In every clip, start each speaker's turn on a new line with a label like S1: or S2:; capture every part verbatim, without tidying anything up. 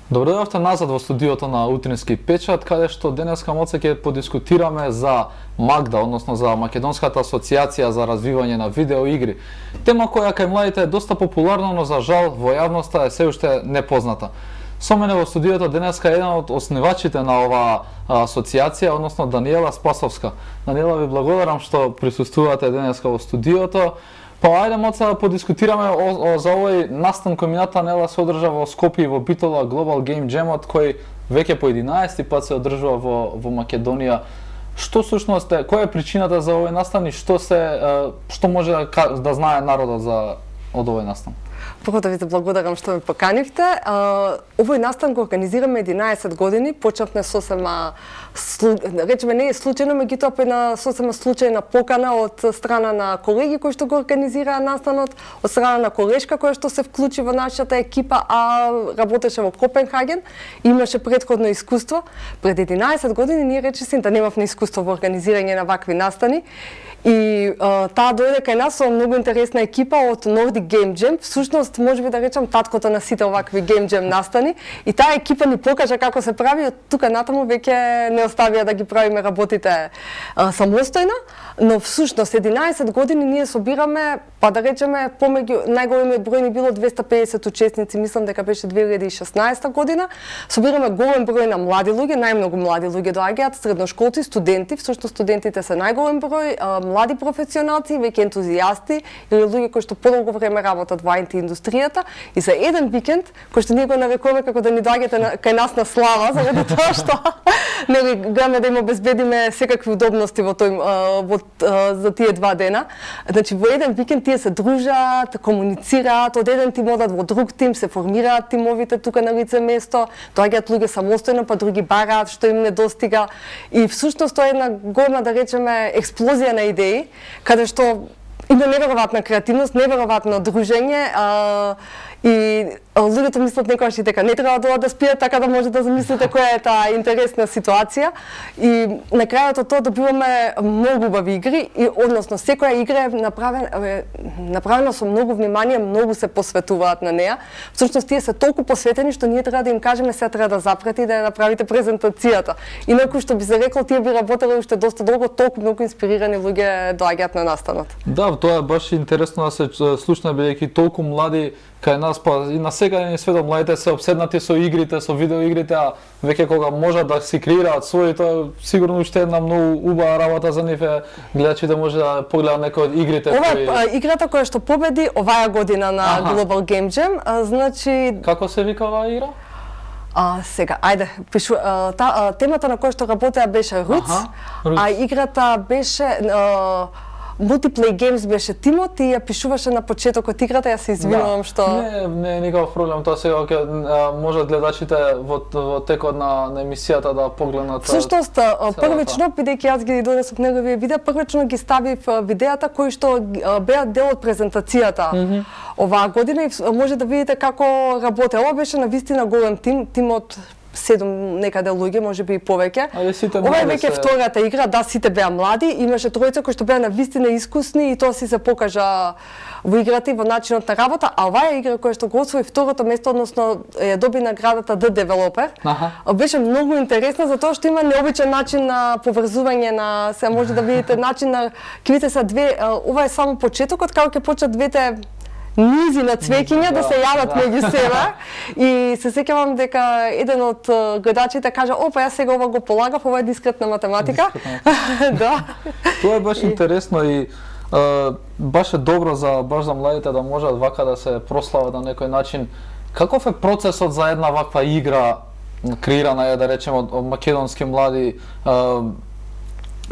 S1: Добро дојавте назад во студиото на Утрински печат, каде што денеска моце ќе подискутираме за Магда, односно за Македонската асоциација за развивање на видеоигри. Тема која кај младите е доста популарна, но за жал во јавноста е се уште непозната. Со мене во студиото денеска е еден од основачите на оваа асоциација, односно Даниела Спасовска. Даниела, ви благодарам што присуствувате денеска во студиото. Па ајде моца да подискутираме о, о, за овој настан кој мината недела се одржа во Скопје и во Битола Global Game Jam-от, кој веќе по единаесети пат се одржува во во Македонија. Што всушност е, која е причината за овој настан и што се што може да, да знае народот за од овој настан?
S2: Прво да ви благодарам што ме поканивте. Овој настан го организираме единаесет години, почнавме сосема речеме не е случајно, меѓутоа по една сосема случајна покана од страна на колеги кои што го организираа настанот, од страна на колешка која што се вклучи во нашата екипа, а работеше во Копенхаген, имаше претходно искуство. Пред единаесет години ние речиси да немавме искуство во организирање на вакви настани. И а, таа дојде кај нас со многу интересна екипа од Nordic Game Jam. Всушност, може би да речам, таткото на сите овакви Game Jam настани. И таа екипа ни покажа како се прави, од тука натаму веќе не оставија да ги правиме работите а, самостојно. Но всушност, единаесет години ние собираме, па да речеме, помеѓу најголемиот број ни било двесте и педесет учесници, мислам дека беше две илјади и шеснаесета година. Собираме голем број на млади луѓе, најмногу млади луѓе доаѓаат, средношколци, студенти, всушност студентите се најголем број, а, млади професионалци, веќе ентузијасти или луѓе кои што подолго време работат во ай ти индустријата, и за еден викенд кој што ние го нарекуваме како да ни доаѓате кај нас на слава, заради тоа што нели гледаме да им обезбедиме секакви удобности во тој во за тие два дена. Значи во еден викенд тие се дружат, комуницираат, од еден тим одат во друг тим, се формираат тимовите тука на лице место, доаѓаат луѓе самостојно, па други бараат што им недостига, и всушност тоа е една голема, да речеме, експлозија на идеи, каде што има неверојатна креативност, неверојатно дружење, а, и луѓето мислат некогаш и дека не треба да да спијат, така да може да замислите која е таа интересна ситуација. И на крајот од тоа добиваме многу убави игри, и односно секоја игра е направена е направена со многу внимание, многу се посветуваат на неа. Всушност тие се толку посветени што ние треба да им кажеме сега треба да запрати и да ја направите презентацијата. Инаку што би се рекло, тие би работеле уште доста долго, толку многу инспирирани луѓе доаѓаат на настанот.
S1: Да, тоа е баш интересно да се слушне, бидејќи толку млади кај нас, па и на секаде ни светот младите се обседнати со игрите, со видеоигрите, а веќе кога можат да си креираат своји, тоа сигурно уште една многу убава работа за нив е гледачите може да погледаат некои од игрите.
S2: Ова е кои... играта која што победи оваа година на Аха. Global Game Jam, а, значи...
S1: Како се вика оваа игра?
S2: А, сега, ајде, пишу, а, та, а, темата на која што работеа беше Roots, а играта беше... А, Multiplay Games беше тимот и ја пишуваше на почетокот играта, јас се извинувам
S1: да.
S2: што...
S1: Не, не е никаков проблем, тоа сега ќе можат гледачите во, во текот на, на емисијата да погледнат.
S2: Всушност, првично, бидејќи јас ги донесов неговие видеа, првично ги ставив видеата кои што беа дел од презентацијата mm -hmm. оваа година, и може да видите како работе. Ова беше на вистина голем тим, тимот седум некаде луѓе, може би и повеќе. Ова е веќе се... втората игра, да, сите беа млади, имаше тројца кои што беа на вистина искусни и тоа си се покажа во играта и во начинот на работа, а оваа игра која што го освои второто место, односно ја доби наградата The Developer, Аха. беше многу интересна затоа што има необичен начин на поврзување на, се може да видите начин на квите са две, ова е само почетокот, како ќе почнат двете низи на цвеќиња да, да се јават да. меѓу себе, и се сеќавам дека еден од гледачите кажа: "Опа, јас сега ова го полагав, ова е дискретна математика." Да.
S1: Тоа е баш и... интересно и а, баш е добро за баш за младите да можат вака да се прослават на некој начин. Каков е процесот за една ваква игра креирана е, да речеме, од, од македонски млади а,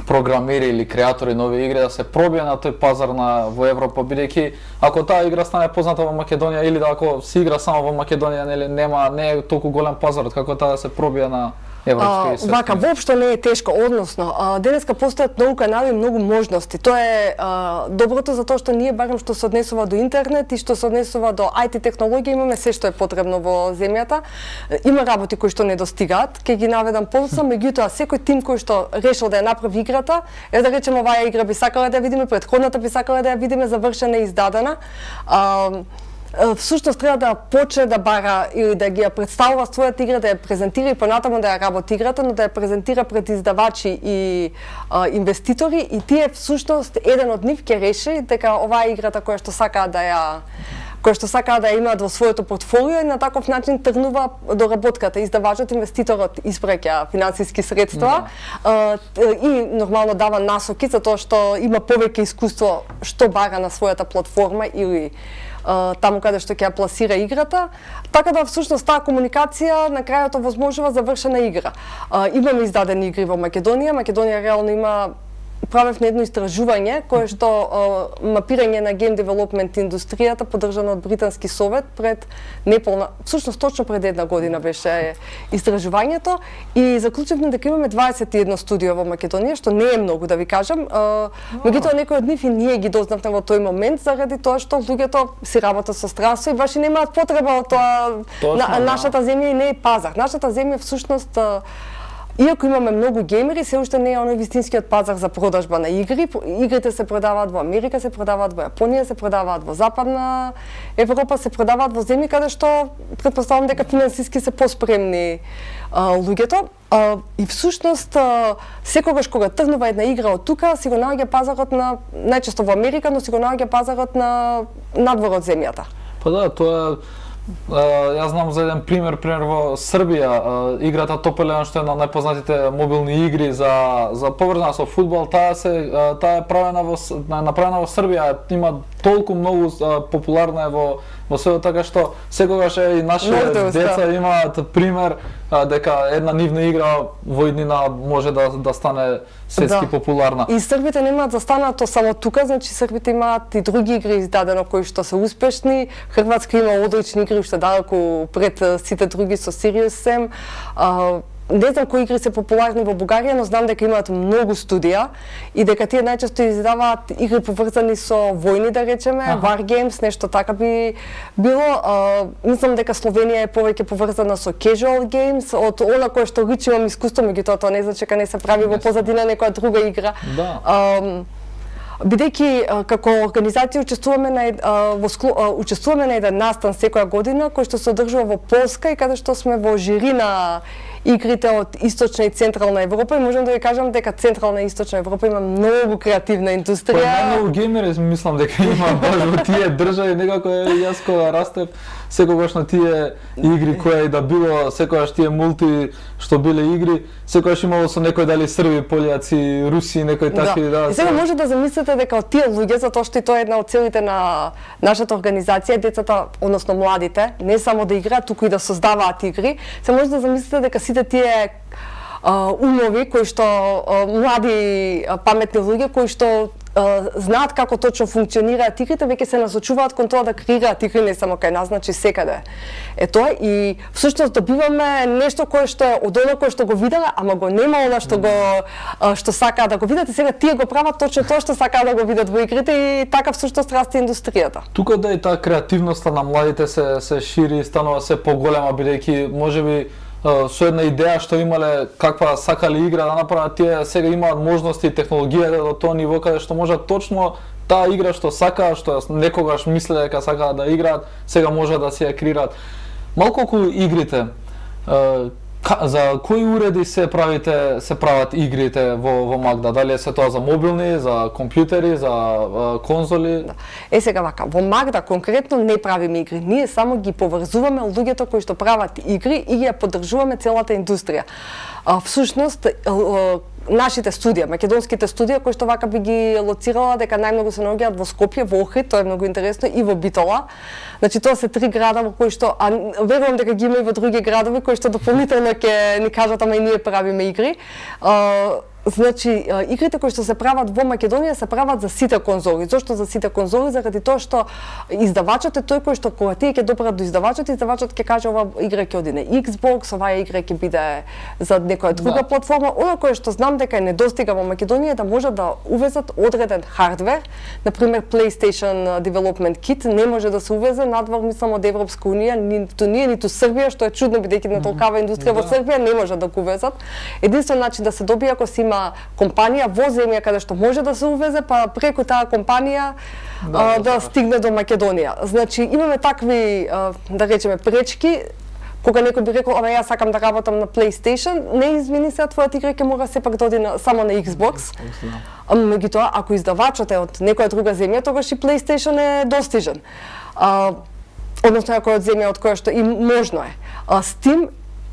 S1: програмери или креатори нови игри да се пробие на тој пазар на во Европа, бидејќи ако таа игра стане позната во Македонија или да ако се игра само во Македонија, нели нема не е толку голем пазар како таа да се пробие на европски и светски.
S2: Вака, воопшто не е тешко, односно, а, денеска постојат многу канали и многу можности. Тоа е а, доброто затоа што ние барем што се однесува до интернет и што се однесува до ай ти технологија, имаме се што е потребно во земјата. Има работи кои што не достигаат, ќе ги наведам подоцна, меѓутоа секој тим кој што решил да ја направи играта, е да речеме оваа игра би сакала да ја видиме, претходната би сакала да ја видиме завршена и издадена. А, всушност треба да почне да бара или да ги ја представува својата игра, да ја презентира и понатаму да ја работи играта, но да ја презентира пред издавачи и а, инвеститори, и тие всушност еден од нив ќе реши дека оваа играта која што сакаат да ја кој што сакаат да ја имаат во своето портфолио, и на таков начин тргнува доработката. Издавачот, инвеститорот испраќа финансиски средства, mm. и нормално дава насоки за тоа што има повеќе искуство што бара на својата платформа или таму каде што ќе ја пласира играта, така да всушност таа комуникација на крајот овозможува завршена игра. Имаме издадени игри во Македонија, Македонија реално има правевме едно истражување кое што мапирање на гейм девелопмент индустријата поддржано од Британски совет пред неполна, всушност точно пред една година беше истражувањето, и заклучивме дека имаме дваесет и едно студио во Македонија, што не е многу, да ви кажам. Меѓутоа некои од нив и ние ги дознавме во тој момент заради тоа што луѓето си работат со странство и баш и немаат потреба од тоа. Точно, на, нашата земја не е пазар. Нашата земја всушност, иако имаме многу геймери, се уште не е оној вистинскиот пазар за продажба на игри. Игрите се продаваат во Америка, се продаваат во Јапонија, се продаваат во Западна Европа, се продаваат во земји каде што претпоставам дека финансиски се поспремни а, луѓето. А, и всушност а, секогаш кога тргнува една игра од тука, си го наоѓа пазарот на, најчесто во Америка, но си го наоѓа пазарот на надвор од земјата.
S1: Па да, тоа Uh, јас знам за еден пример, пример во Србија, uh, играта Top Eleven, што е на најпознатите мобилни игри за за поврзана со фудбал, таа се uh, таа е правена во направена во Србија, има толку многу uh, популарна е во во светот, така што секогаш е и нашите деца имаат пример uh, дека една нивна игра во иднина може да да стане светски да. популарна.
S2: И србите немаат застанато само тука, значи србите имаат и други игри издадено кои што се успешни. Хрватска има одлични игри уште далеку пред сите други со Serious Sam. А, не знам кои игри се популарни во Бугарија, но знам дека имаат многу студија и дека тие најчесто издаваат игри поврзани со војни, да речеме, ага. War Games, нешто така би било. А, мислам дека Словенија е повеќе поврзана со casual games, од она кое што личи имам искуство, меѓутоа тоа не значи дека не се прави во позадина некоја друга игра.
S1: Да.
S2: А, бидејќи како организација учествуваме на во учествуваме на еден настан секоја година кој што се одржува во Полска и каде што сме во жири на игрите од Источна и Централна Европа, и можам да ви кажам дека Централна и Источна Европа има многу креативна индустрија.
S1: Па многу геймери мислам дека има баш во тие држави, некако јас кога растев секогаш на тие игри кои и да било, секогаш тие мулти што биле игри, секогаш имало со некој дали срби, пољаци, руси, некои такви да.
S2: да и сега може да замислите дека од тие луѓе, затоа што и тоа е една од целите на нашата организација, децата, односно младите, не само да играат, туку и да создаваат игри, се може да замислите дека сите тие а, умови кои што а, млади а, паметни луѓе кои што а, знаат како точно функционираат игрите, веќе се насочуваат кон тоа да креираат игри не само кај нас, значи секаде. Е тоа и всушност добиваме нешто кое што е од она кое што го виделе, ама го нема она што го а, што сакаат да го видат, и сега тие го прават точно тоа што сакаат да го видат во игрите, и така всушност расте индустријата.
S1: Тука да и таа креативноста на младите се се шири, станува се поголема, бидејќи можеби со една идеја што имале каква сакале игра да направат, тие сега имаат можности и технологијата до тоа ниво каде што можат точно таа игра што сакаат, што некогаш мислеле дека сакаат да играат, сега може да се ја креираат. Малку околу игрите, за кои уреди се правите се прават игрите во во Магда? Дали се тоа за мобилни, за компјутери, за а, конзоли?
S2: Да. Е сега вака, во Магда конкретно не правиме игри, ние само ги поврзуваме луѓето кои што прават игри и ги ја поддржуваме целата индустрија. А, всушност нашите студија, македонските студија кои што вака би ги лоцирала дека најмногу се наоѓаат во Скопје, во Охрид, тоа е многу интересно, и во Битола. Значи тоа се три града во кои што, а верувам дека ги има и во други градови кои што дополнително ќе ни кажат ама и ние правиме игри. А, значи игрите кои што се прават во Македонија се прават за сите конзоли. Зошто за сите конзоли? Заради тоа што издавачот е тој кој што кога тие ќе допрат до издавачот, издавачот ќе каже ова игра ќе оди на Xbox, оваа игра ќе биде за некоја друга да. платформа. Она кое што знам дека е недостига во Македонија е да можат да увезат одреден хардвер, на пример PlayStation Development Kit не може да се увезе надвор, мислам, од Европска унија, ниту ние, ниту Србија, што е чудно бидејќи на толкава индустрија mm -hmm. во Србија не може да го увезат. Единствен начин да се добие ако си има има компанија во земја каде што може да се увезе, па преку таа компанија да, а, да, да стигне до Македонија. Значи имаме такви, а, да речеме, пречки. Кога некој би рекол, ама јас сакам да работам на PlayStation, не извини се, твојата игра ќе мора сепак да оди на, само на Xbox. Меѓутоа, ако издавачот е од некоја друга земја, тогаш и PlayStation е достижен. А, односно, ако е од земја од која што и можно е. А, Steam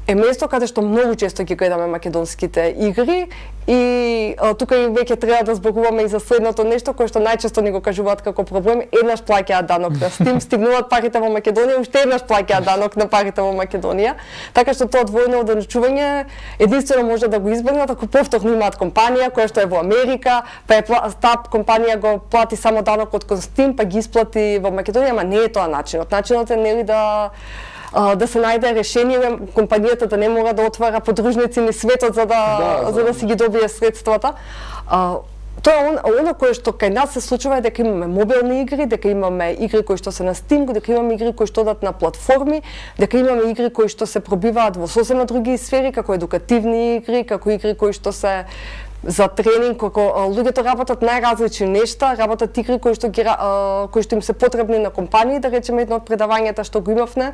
S2: е место каде што многу често ги гледаме македонските игри и а, тука и веќе треба да зборуваме и за следното нешто кое што најчесто ни го кажуваат како проблем, еднаш плаќаат данок на Steam, стигнуваат парите во Македонија, уште еднаш плаќаат данок на парите во Македонија, така што тоа двојно одлучување единствено може да го избегнат ако повторно имаат компанија која што е во Америка, па е таа компанија го плати само данокот кон Steam, па ги исплати во Македонија, ама не е тоа начинот. Начинот е нели да да се најде решение, компанијата да не мора да отвара подружници ни светот за да, да, за да си ги добие средствата. А, тоа е он, оно кое што кај нас се случува е дека имаме мобилни игри, дека имаме игри кои што се на Steam, дека имаме игри кои што одат на платформи, дека имаме игри кои што се пробиваат во сосема други сфери, како едукативни игри, како игри кои што се за тренинг, како луѓето работат најразлични нешта, работат игри кои што ги кои што им се потребни на компании, да речеме едно од предавањата што го имавме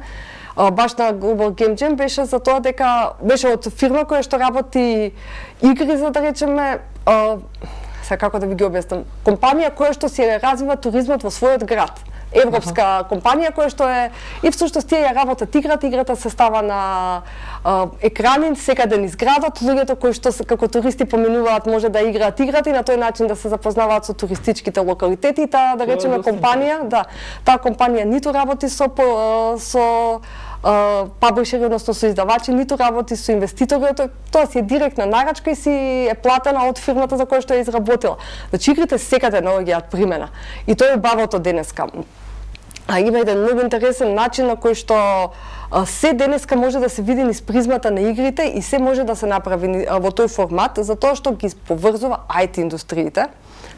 S2: баш на Global Game Jam беше за тоа дека беше од фирма која што работи игри, за да речеме, сега како да ви ги објаснам, компанија која што си развива туризмот во својот град. Европска uh-huh. компанија која што е и всушност тие ја работат играта, играта се става на а, екрани секаде низ градот, луѓето кои што како туристи поминуваат може да играат играта и на тој начин да се запознаваат со туристичките локалитети. Таа да речеме компанија, да, таа компанија ниту работи со со паблишери, односно со издавачи, ниту работи со инвеститори, тоа си е директна нарачка и си е платена од фирмата за која што ја изработила. Значи игрите секаде наоѓаат примена. И тоа е убавото денеска. А има еден многу интересен начин на кој што а, се денеска може да се види низ призмата на игрите и се може да се направи а, во тој формат, затоа што ги поврзува ай ти индустриите,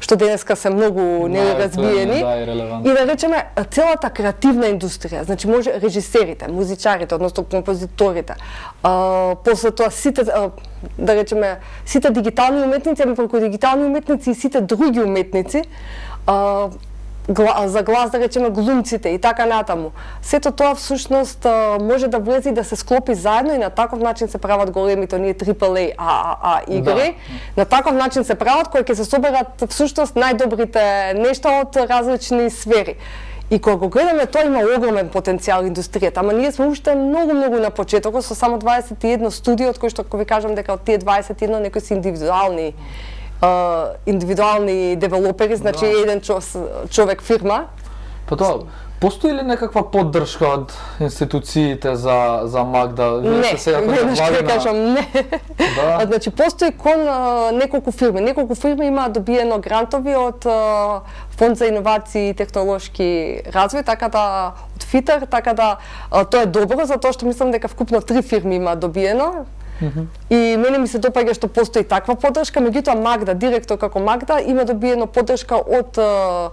S2: што денеска се многу неразвиени, да, и да речеме целата креативна индустрија, значи може режисерите, музичарите, односно композиторите, а, после тоа сите, а, да речеме, сите дигитални уметници, ами преку дигитални уметници и сите други уметници, а, Гла, за глас, да речеме, глумците и така натаму. Сето тоа всушност може да влезе и да се склопи заедно и на таков начин се прават големите оние трипл ей а а а игри. Да. На таков начин се прават кои ќе се соберат всушност најдобрите нешта од различни сфери. И кога го гледаме, тоа има огромен потенцијал индустријата, ама ние сме уште многу многу на почетокот со само дваесет и едно студио, од кои што ако ви кажам дека од тие дваесет и едно некои се индивидуални Uh, индивидуални девелопери, значи да. еден човек фирма.
S1: Па тоа, постои ли некаква поддршка од институциите за за Магда?
S2: Не, не, што кажам, не. Да. Значи постои кон uh, неколку фирми. Неколку фирми имаат добиено грантови од uh, Фонд за иновации и технолошки развој, така да од ФИТЕР, така да uh, тоа е добро, затоа што мислам дека вкупно три фирми имаат добиено. Mm-hmm. И мене ми се допаѓа што постои таква поддршка, меѓутоа Магда, директор како Магда, има добиено поддршка од uh,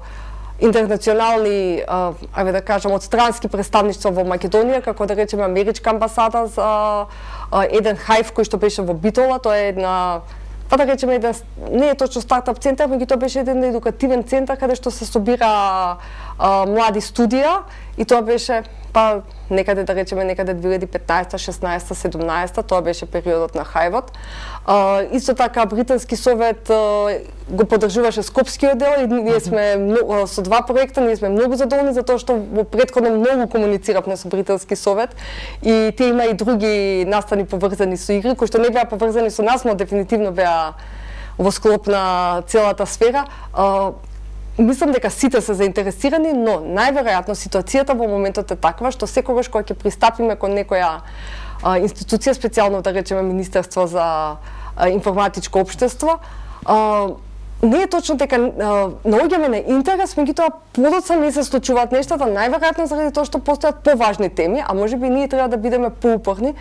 S2: интернационални, uh, ајде да кажам, од странски представништва во Македонија, како да речеме Америчка амбасада за uh, еден хајв кој што беше во Битола, тоа е една, па да речеме еден, не е точно стартап центар, меѓутоа беше еден едукативен центар каде што се собира uh, млади студија и тоа беше па некаде да речеме некаде две илјади и петнаесета, шеснаесета, седумнаесета, тоа беше периодот на хајвот. А, исто така британски совет а, го поддржуваше Скопскиот дел и ние сме а, со два проекта, ние сме многу задоволни затоа што во претходно многу комунициравме со британски совет и тие има и други настани поврзани со игри кои што не беа поврзани со нас, но дефинитивно беа во склоп на целата сфера. А, Мислам дека сите се заинтересирани, но најверојатно ситуацијата во моментот е таква што секогаш кога ќе пристапиме кон некоја а, институција, специјално да речеме Министерство за а, информатичко општество, а, не е точно дека наоѓаме на интерес, меѓутоа подоцна не се случуваат нештата, најверојатно заради тоа што постојат поважни теми, а можеби ние треба да бидеме поупорни,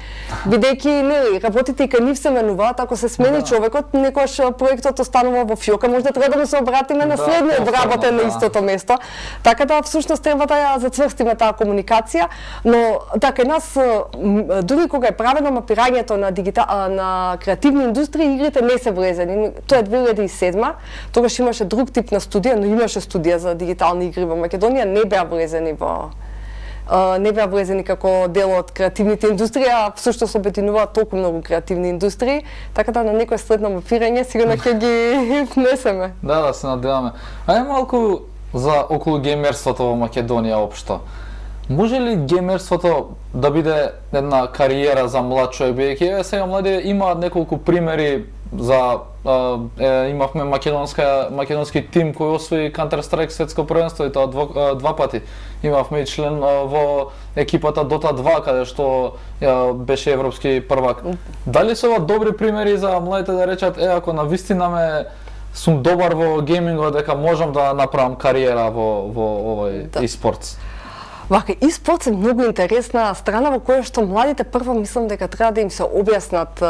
S2: бидејќи нели работите и кај нив се менуваат, ако се смени да. човекот, некојаш проектот останува во фиока, можда треба да му се обратиме на следниот да, работен да. на истото место. Така да всушност треба да ја зацврстиме таа комуникација, но така нас дури кога е правено мапирањето на дигитал на креативни индустрии, игрите не се влезени. Тоа е две илјади и седма. Тогаш имаше друг тип на студија, но имаше студија за дигитални игри во Македонија, не беа влезени во не беа влезени како дел од креативните индустрии, а всушност обединуваат толку многу креативни индустрии, така да на некој следно мапирање сигурно ќе ги внесеме.
S1: Да, да се надеваме. Ајде малку за околу геймерството во Македонија општо. Може ли геймерството да биде една кариера за млад човек, бидејќи сега млади имаат неколку примери за е, имавме македонска македонски тим кој освои Counter Strike светско првенство и тоа два, два пати. Имавме и член во екипата Dota два каде што е, беше европски првак. Дали се ова добри примери за младите да речат е ако навистина ме сум добар во геймингот дека можам да направам кариера во во овој да. e-спортс?
S2: Вака, e-спортс е многу интересна страна во која што младите прво мислам дека треба да им се објаснат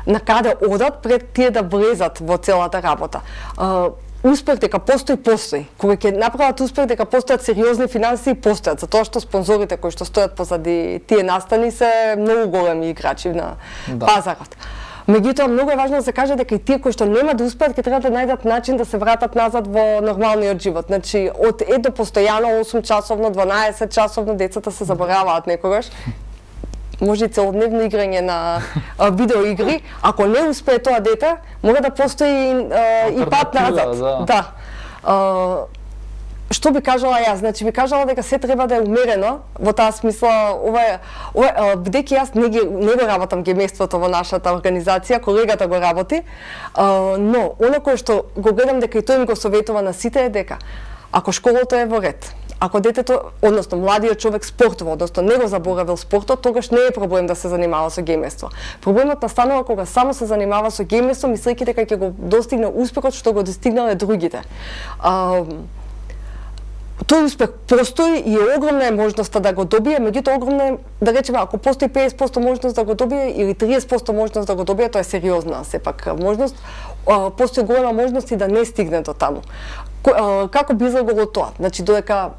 S2: на каде одат пред тие да влезат во целата работа. Uh, успех дека постои, постои. Кога ќе направат успех дека постојат сериозни финансии, постојат, затоа што спонзорите кои што стојат позади тие настани се многу големи играчи на да. пазарот. Меѓутоа, многу е важно да се каже дека и тие кои што нема да успеат, ќе треба да најдат начин да се вратат назад во нормалниот живот. Значи, од е до постојано осум часовно, дванаесет часовно, децата се забораваат некогаш. Може и целодневно играње на а, видеоигри, ако не успее тоа дете, мора да постои а, и пат назад. Да. да. А, што би кажала јас? Значи би кажала дека се треба да е умерено, во таа смисла, ова ова бидејќи јас не ги не го работам геймерството во нашата организација, колегата го работи, а, но она кое што го гледам дека и тој ми го советува на сите е дека ако школата е во ред, ако детето, односно младиот човек спортува, односно не го заборавил спортот, тогаш не е проблем да се занимава со геймерство. Проблемот настанува кога само се занимава со геймерство, мислејќи дека ќе го достигне успехот што го достигнале другите. А, тој успех постои и е огромна е можноста да го добие, меѓутоа огромна е, да речеме, ако постои педесет проценти можност да го добие или триесет проценти можност да го добие, тоа е сериозна сепак можност, постои голема можност и да не стигне до таму. Како би изгледало тоа? Значи, додека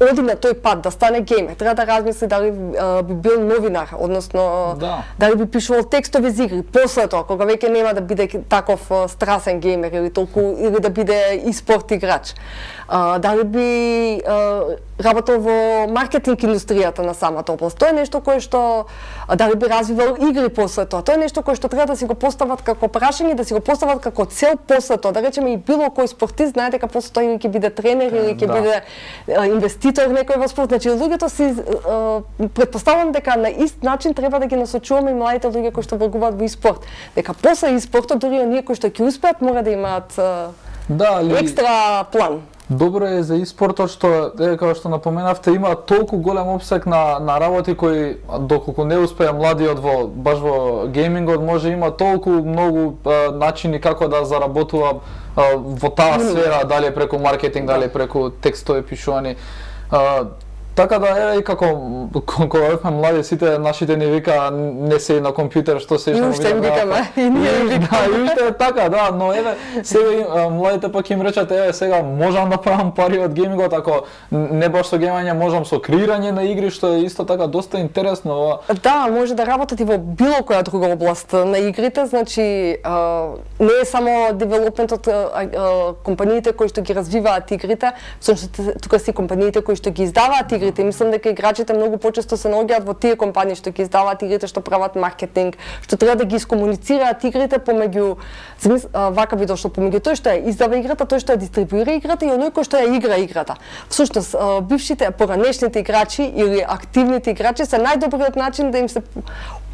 S2: оди на тој пат да стане геймер, треба да размисли дали а, би бил новинар, односно да. дали би пишувал текстови за игри. После тоа, кога веќе нема да биде таков а, страсен геймер или толку или да биде и спорт играч. А, дали би а, работел во маркетинг индустријата на самата област. Тоа е нешто кое што а, дали би развивал игри после тоа. Тоа е нешто кое што треба да си го постават како прашање, да си го постават како цел после тоа. Да речеме и било кој спортист знае дека после тоа или ќе биде тренер или ќе да. биде а, инвеститор некој во спорт. Значи луѓето си а, претпоставувам дека на ист начин треба да ги насочуваме и младите луѓе кои што влегуваат во спорт. Дека после и спортот дури оние кои што ќе успеат мора да имаат а, да, ли... екстра план.
S1: Добро е за e-спортот што е како што напоменавте има толку голем опсек на на работи кои доколку не успее младиот во баш во геймингот може има толку многу а, начини како да заработува а, во таа сфера, дали преку маркетинг, дали преку текстови пишувани. А, Така да е и како кога бевме млади сите нашите ни вика не се на компјутер што се што
S2: уште викаме и ние викаме
S1: и уште така да, но еве сега младите пак им речат еве сега можам да правам пари од геймингот ако не баш со геймање можам со креирање на игри што е исто така доста интересно.
S2: Да, може да работат и во било која друга област на игрите, значи а, не е само девелопментот, компаниите кои што ги развиваат игрите, всушност тука си компаниите кои што ги издаваат игрите. Мислам дека играчите многу почесто се наоѓаат во тие компании што ги издаваат игрите, што прават маркетинг, што треба да ги искомуницираат игрите помеѓу вака би дошло помеѓу тој што ја издава играта, тој што ја дистрибуира играта и оној кој што ја игра играта. Всушност, бившите поранешните играчи или активните играчи се најдобриот начин да им се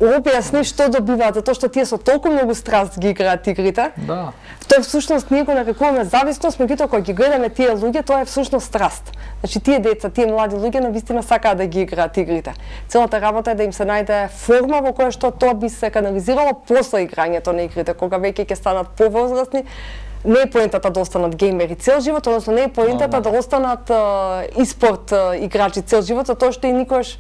S2: објасни што добиваат, затоа што тие со толку многу страст ги играат игрите.
S1: Да.
S2: Тоа всушност ние го нарекуваме зависност, меѓутоа кога ги гледаме тие луѓе, тоа е всушност страст. Значи тие деца, тие млади луѓе навистина сакаат да ги играат игрите. Целата работа е да им се најде форма во која што тоа би се канализирало после играњето на игрите, кога веќе ќе станат повозрасни, не е поентата да останат геймери цел живот, односно не е поентата да останат испорт играчи цел живот, затоа што и никош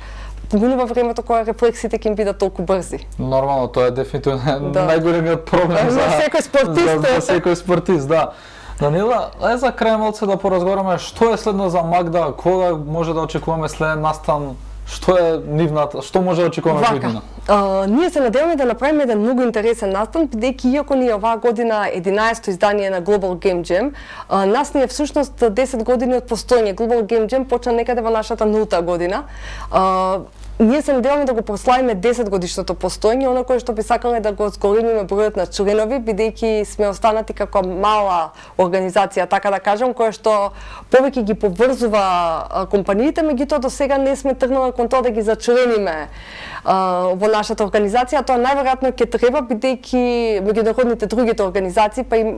S2: поминува времето кога рефлексите ќе им бидат толку брзи.
S1: Нормално, тоа е дефинитивно
S2: да.
S1: најголемиот проблем за
S2: секој спортист.
S1: За, за секој спортист, да. Данила, е за крај малце да поразговараме што е следно за Магда, кога може да очекуваме следен настан, што е нивната, што може да очекуваме во година?
S2: Uh, ние се надеваме да направиме еден многу интересен настан, бидејќи иако ни е оваа година единаесетто издание на Global Game Jam, uh, нас ни е всушност десет години од постоење. Global Game Jam почна некаде во нашата нулта година. Uh, Ние се надеваме да го прославиме десет годишното постоење, оно кое што би сакале да го зголемиме бројот на членови, бидејќи сме останати како мала организација, така да кажам, која што повеќе ги поврзува компаниите, меѓутоа до сега не сме тргнали кон тоа да ги зачлениме во нашата организација. Тоа најверојатно ќе треба, бидејќи меѓународните другите организации, па и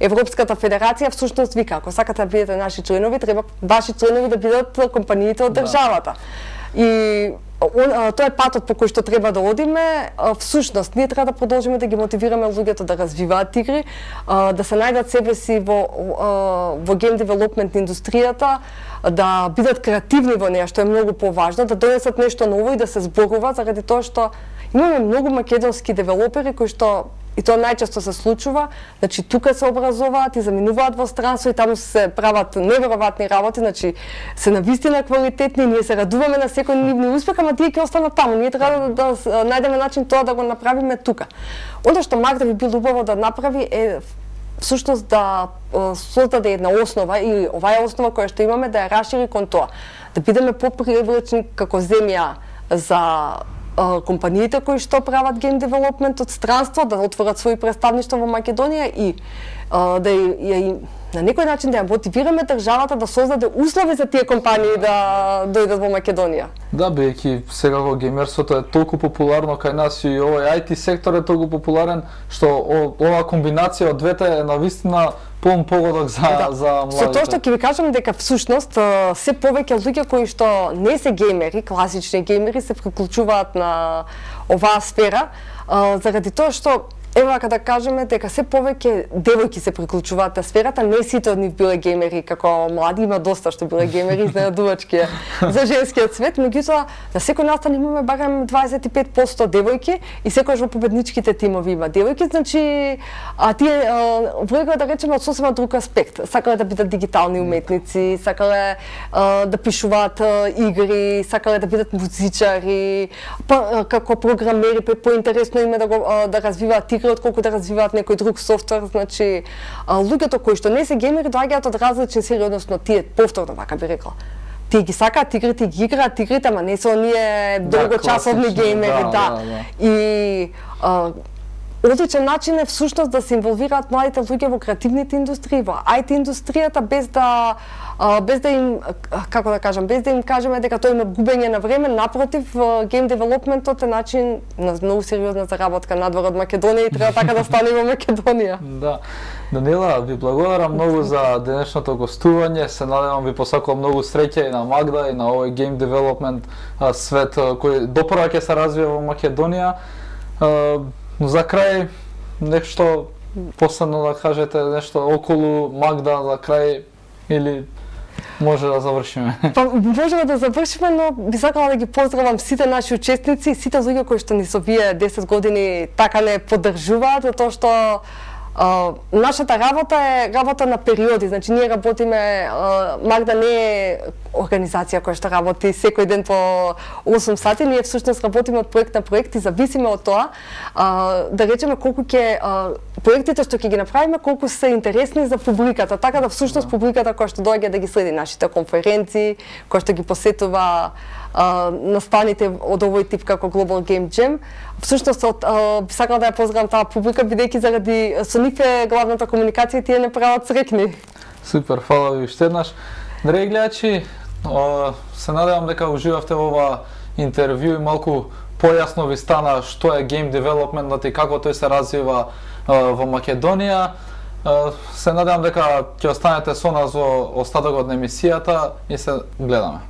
S2: Европската федерација всушност вика, ако сакате да бидете наши членови, треба ваши членови да бидат компаниите од државата. И тоа е патот по кој што треба да одиме. Всушност, ние треба да продолжиме да ги мотивираме луѓето да развиваат игри, да се најдат себе си во, во гейм девелопмент индустријата, да бидат креативни во неја, што е многу поважно, да донесат нешто ново и да се зборуваат, заради тоа што имаме многу македонски девелопери кои што и тоа најчесто се случува, значи тука се образуваат и заминуваат во странство и таму се прават неверојатни работи, значи се навистина квалитетни, ние се радуваме на секој нивни успех, ама тие ќе останат таму. Ние треба да, да најдеме начин тоа да го направиме тука. Оно што Магда би бил убаво да направи е всушност да создаде една основа или оваа основа која што имаме да ја расшири кон тоа, да бидеме попривлечни како земја за компаниите кои што прават гейм девелопмент од странство, да отворат своји представништва во Македонија и да ја на некој начин да ја мотивираме државата да создаде услови за тие компании да дојдат во Македонија.
S1: Да, бидејќи сега во геймерството е толку популарно кај нас и овој ай ти сектор е толку популарен што оваа комбинација од двете е навистина полн погодок за
S2: да.
S1: за младите.
S2: Со тоа што ќе ви кажам дека всушност се повеќе луѓе кои што не се геймери, класични геймери, се приклучуваат на оваа сфера, заради тоа што ево ако да кажеме дека се повеќе девојки се приклучуваат на сферата, не сите од нив биле геймери како млади, има доста што биле геймери изненадувачки за женскиот свет, меѓутоа на секој настан имаме барем дваесет и пет проценти девојки и секогаш во победничките тимови има девојки, значи а тие влегува да речеме од сосема друг аспект. Сакале да бидат дигитални уметници, сакале а, да пишуваат а, игри, сакале да бидат музичари, па како програмери, поинтересно име да го а, да развиваат игри отколку да развиваат некој друг софтвер, значи луѓето кои што не се геймери доаѓаат од различни сфери, односно тие повторно вака би рекла. Тие ги сакаат игрите, ги играат игрите, ама не се оние долгочасовни да, геймери, да. да. да, да. И а, одличен начин е всушност да се инволвираат младите луѓе во креативните индустрии, во ай ти индустријата, без да без да им, како да кажам, без да им кажеме дека тоа има губење на време, напротив, гейм девелопментот е начин на многу сериозна заработка надвор од Македонија и треба така да стане во Македонија.
S1: Да. Данила, ви благодарам многу за денешното гостување. Се надевам ви посакувам многу среќа и на Магда и на овој гейм девелопмент свет кој допрва ќе се развива во Македонија. За крај нешто последно да кажете, нешто околу Магда за крај или може да завршиме?
S2: Па можеме да завршиме, но би сакала да ги поздравам сите наши учесници и сите луѓе кои што ни со вие десет години така не поддржуваат, затоа што Uh, нашата работа е работа на периоди, значи ние работиме, uh, Магда не е организација која што работи секој ден по осум сати, ние всушност работиме од проект на проект и зависиме од тоа, uh, да речеме колку ќе uh, проектите што ќе ги направиме, колку се интересни за публиката, така да всушност публиката која што доаѓа да ги следи нашите конференции, која што ги посетува настаните од овој тип како Global Game Jam. Всушност, би сакала да ја поздравам таа публика, бидејќи заради со нив е главната комуникација и тие не прават срекни.
S1: Супер, фала ви уште еднаш. Драги гледачи, се надевам дека уживавте во ова интервју и малку појасно ви стана што е гейм девелопментот и како тој се развива во Македонија. Се надевам дека ќе останете со нас во остатокот на емисијата и се гледаме.